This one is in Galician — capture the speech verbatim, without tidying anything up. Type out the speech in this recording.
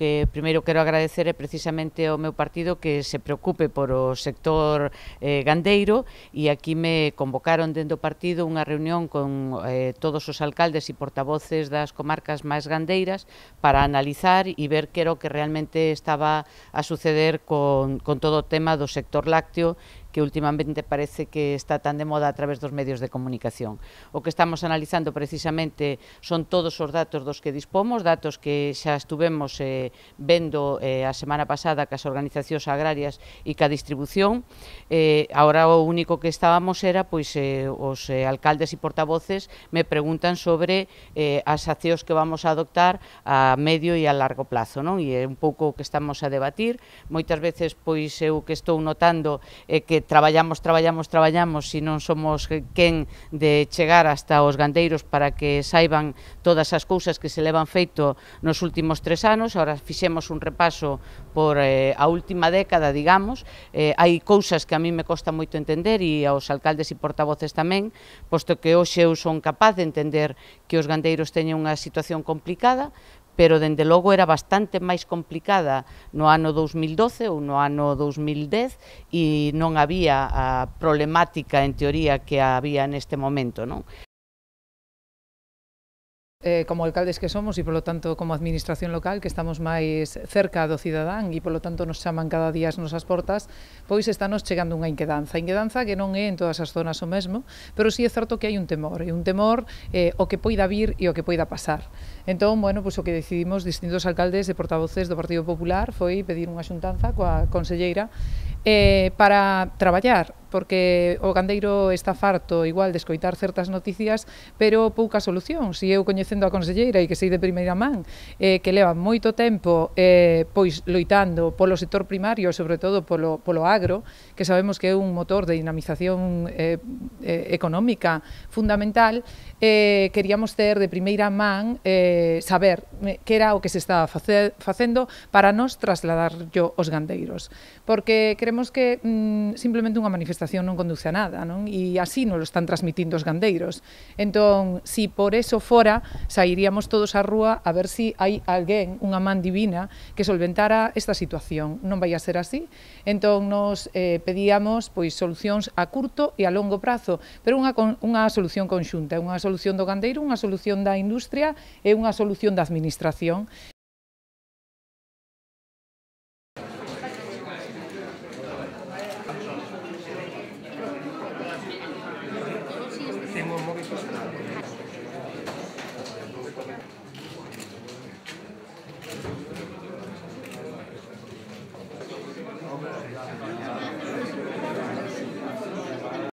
que primeiro quero agradecer é precisamente ao meu partido que se preocupe por o sector eh, gandeiro, e aquí me convocaron dentro do partido unha reunión con eh, todos os alcaldes e portavoces das comarcas máis gandeiras para analizar e ver que era o que realmente estaba a suceder con, con todo o tema do sector lácteo, que últimamente parece que está tan de moda a través dos medios de comunicación. O que estamos analizando precisamente son todos os datos dos que dispomos, datos que xa estuvemos eh, vendo eh, a semana pasada cas organizacións agrarias e ca distribución. Eh, ahora o único que estábamos era, pois, eh, os eh, alcaldes e portavoces me preguntan sobre eh, as accións que vamos a adoptar a medio e a largo plazo, non? E é un pouco o que estamos a debatir. Moitas veces, pois, eu que estou notando é que traballamos, traballamos, traballamos e non somos quen de chegar hasta os gandeiros para que saiban todas as cousas que se levan feito nos últimos tres anos. Ahora fixemos un repaso por eh, a última década, digamos. Eh, hai cousas que a mí me costa moito entender e aos alcaldes e portavoces tamén, posto que hoxe eu son capaz de entender que os gandeiros teñen unha situación complicada, pero dende logo era bastante máis complicada no ano dous mil doce ou no ano dous mil dez e non había a problemática en teoría que había neste momento, non? Eh, como alcaldes que somos e, polo tanto, como administración local, que estamos máis cerca do cidadán e, polo tanto, nos chaman cada día as nosas portas, pois estanos chegando unha inquedanza. Inquedanza que non é en todas as zonas o mesmo, pero sí é certo que hai un temor, e un temor eh, o que poida vir e o que poida pasar. Entón, bueno, pois o que decidimos distintos alcaldes e portavoces do Partido Popular foi pedir unha xuntanza coa conselleira eh, para traballar, porque o gandeiro está farto igual de escoitar certas noticias, pero pouca solución. Si eu coñecendo a conselleira e que sei de primeira man, eh, que leva moito tempo eh, pois loitando polo sector primario, sobre todo polo, polo agro, que sabemos que é un motor de dinamización eh, eh, económica fundamental, eh, queríamos ter de primeira man eh, saber que era o que se estaba face, facendo para nos trasladarlo aos gandeiros. Porque creemos que mm, simplemente unha manifestación non conduce a nada, non? E así nos lo están transmitindo os gandeiros. Entón, si por eso fora, sairíamos todos á rúa a ver si hai alguén, unha man divina, que solventara esta situación. Non vai a ser así. Entón, nos eh, pedíamos pois solucións a curto e a longo prazo, pero unha, unha solución conxunta, unha solución do gandeiro, unha solución da industria e unha solución da administración. Tengo un móvil.